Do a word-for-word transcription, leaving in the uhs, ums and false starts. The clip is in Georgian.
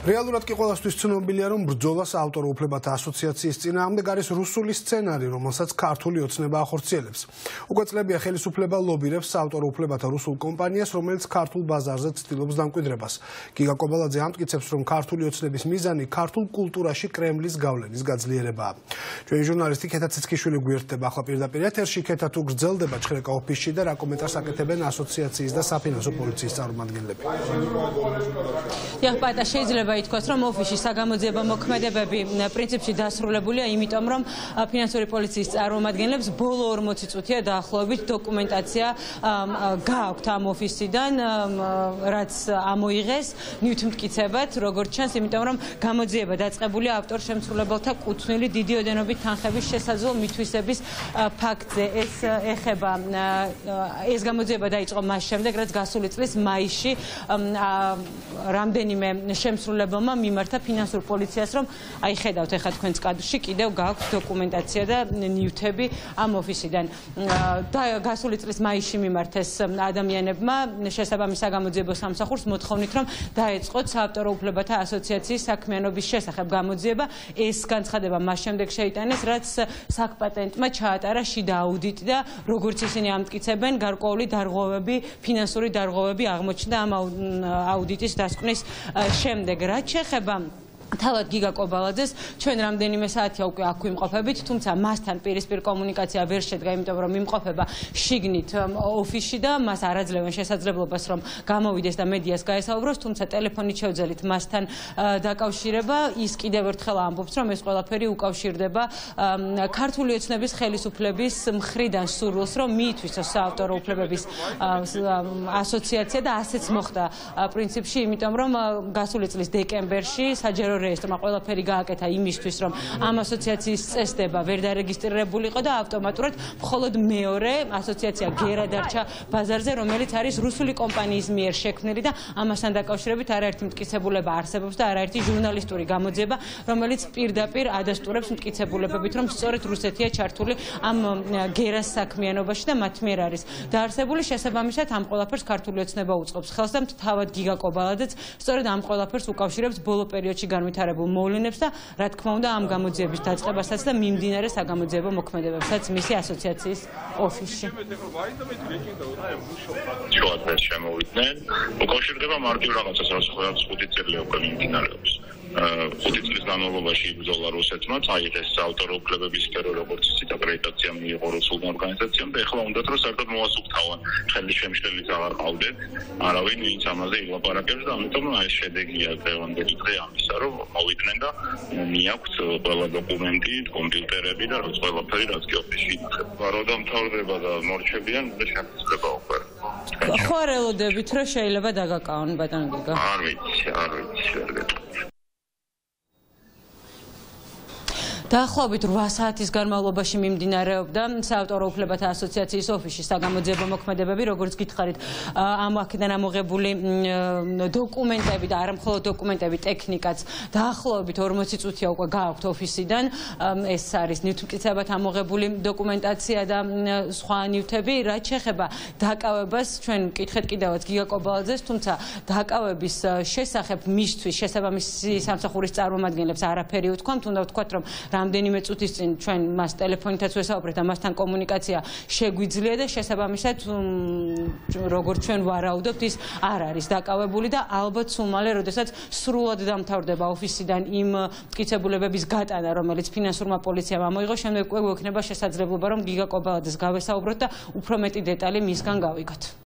რეალურად კი ყველასთვის ცნობილია, რომ ბრძოლას ავტორ უფლებათა ასოციაციის წინააღმდეგ არის რუსული სცენარი, რომელსაც ქართული ოცნება ახორციელებს. უკვე წლებია ხელისუფლება ლობირებს ავტორ უფლებათა რუსულ კომპანიას, რომელიც ქართულ ბაზარზე ცდილობს დამკვიდრებას. გიგა კობალაძე ამტკიცებს, რომ ქართული ოცნების მიზანი ქართულ კულტურაში კრემლის გავლენის გაძლიერებაა. ჩვენი ჟურნალისტი ქეთა ციცქიშვილი გვერდდება ახლა პირდაპირ ეთერში. ქეთა, თუ გრძელდება ჩხრეკა ოფისში და რა კომენტარს აკეთებენ ასოციაციის და საფინანსო პოლიციის წარმომადგენლები? Iar შეიძლება ითქვას, რომ ოფისში საგამოძიებო მოქმედებები პრინციპში დასრულებულია, იმიტომ რომ ფინანსური პოლიციის წარმომადგენლებს ბოლო ორმოცი წუთია დაახლოებით დოკუმენტაცია გააქვთ ამ ოფისიდან, რაც ამოიღეს ნივთმტკიცებად, როგორც ჩანს, იმიტომ რომ გამოძიება დაწყებულია ავტორ შემსრულებელთა კუთვნილი დიდი ოდენობით თანხების შესაძლო მითვისების ფაქტზე. ეს ეხება ეს გამოძიება დაიწყო მას შემდეგ, რაც გასული წლის მაისში რამდენიმე შემსრულებელმა მიმართა ფინანსურ პოლიციას, რომ აი ხედავთ ეხლა თქვენს კადრში კიდევ გააქვთ დოკუმენტაცია და ნივთები ამ ოფისიდან. და გასული წლის მაისში მიმართეს ადამიანებმა შესაბამის საგამოძიებო სამსახურს მოთხოვნით, რომ დაეწყოთ საავტორო უფლებათა ასოციაციის საქმიანობის შესახებ გამოძიება. ეს განცხადება მას შემდეგ შეიტანეს, რაც საკპატენტმა ჩაატარა შიდა აუდიტი და როგორც ისინი ამტკიცებენ, გარკვეული დარღვევები, ფინანსური დარღვევები აღმოჩნდა ამ აუდიტის დასკვნის შემდეგ. რაც შეეხება თავად გიგა კობალაძეს, ჩვენ რამდენიმე საათია უკვე აქ ვიმყოფებით, თუმცა მასთან პირისპირ კომუნიკაცია ვერ შედგა, იმიტომ რომ იმყოფება შიგნით ოფისში და მას არ აძლევენ შესაძლებლობას, რომ გამოვიდეს და მედიას გაესაუბროს, თუმცა ტელეფონით შევძელით მასთან დაკავშირება. ის კიდევ ერთხელ ამბობს, რომ ეს ყველაფერი უკავშირდება ქართული ოცნების ხელისუფლების მხრიდან სურვილს, რომ მიითვისოს საავტორო უფლებების ასოციაცია და ასეც მოხდა პრინციპში, იმიტომ რომ გასული წლის დეკემბერში საჯარო რეესტრმა ყველაფერი გააკეთა იმისთვის, რომ ამ ასოციაციის წესდება ვერ დარეგისტრირებულიყო და ავტომატურად მხოლოდ მეორე ასოციაცია გერა დარჩა ბაზარზე, რომელიც არის რუსული კომპანიის მიერ შექმნილი და ამასთან დაკავშირებით არაერთი მტკიცებულება არსებობს და არაერთი ჟურნალისტური გამოძიება, რომელიც პირდაპირ ადასტურებს მტკიცებულებებით, რომ სწორედ რუსეთია ჩართული ამ გერას საქმიანობაში და მათ მიერ არის დაარსებული. შესაბამისად ამ ყველაფერს ქართული ოცნება უწყობს ხელს და თავად გიგა კობალაძეც სწორედ ამ ყველაფერს უკავშირებს ბოლო პერიოდში განვითარებულ მოვლენებს და რა თქმა უნდა ამ გამოძიების დაწყებასაც და მიმდინარე საგამოძიებო მოქმედებებსაც მისი ასოციაციის ოფისში. შუადღეს შემოვიდნენ, უკავშირდება მარტივ რაღაცას, რაც ხუთი წელი უკვე მიმდინარეობს. ხუთი წლის განმავლობაში იბრძოლა რუსეთმა, წაიღეს საავტორო უფლებების სფერო, როგორც იცით, აკრედიტაცია მიიღო რუსულ ორგანიზაციამ და ეხლა უნდათ, რომ საერთოდ მოასუფთავან, ხელის შემშლელიც აღარ ყავდეთ, არავინ ვინც ამაზე ილაპარაკებს და ამიტომ აი ეს შედეგია დღევანდელი დღე ამისა, რომ მოვიდნენ და მიაქვთ ყველა დოკუმენტი, კომპიუტერები და რაც ყველაფერი, რაც კი ოფისში ინახება. რო დამთავრდება და მორჩებიან, და შეფასება უკვე. ხო არ ელოდებით, რომ შეიძლება დაგაკავონ ბატონ გიგა? არ ვიცი, არ ვიცი, ვერ გეტყვი. დაახლოებით რვა საათის განმავლობაში მიმდინარეობდა საავტორო უფლებათა ასოციაციის ოფისში საგამოძიებო მოქმედებები, როგორც გითხარით, ამ აქედან ამოღებული დოკუმენტები და არა მხოლოდ დოკუმენტები, ტექნიკაც დაახლოებით ორმოცი წუთია უკვე გააქვთ ოფისიდან. ეს არის ნივთმტკიცებად ამოღებული დოკუმენტაცია და სხვა ნივთები. რაც შეეხება დაკავებას, ჩვენ ვკითხეთ კიდევაც გიგა კობალაძეს, თუმცა დაკავების შესახებ მისთვის შესაბამისი სამსახურის წარმომადგენლებს არაფერი უთქვამთ, უნდა ვთქვათ, რომ რამდენიმე წუთის წინ ჩვენ მას ტელეფონითაც ვესაუბრეთ და მასთან კომუნიკაცია შეგვიძლია და შესაბამისად როგორც ჩვენ ვარაუდობთ, ის არ არის დაკავებული და ალბათ სულ მალე, როდესაც სრულად დამთავრდება ოფისიდან იმ მტკიცებულებების გატანა, რომელიც ფინანსურმა პოლიციამ ამოიღო, შემდეგ უკვე გვექნება შესაძლებლობა, რომ გიგა კობალაძეს გავესაუბროთ და უფრო მეტი დეტალი მისგან გავიგოთ.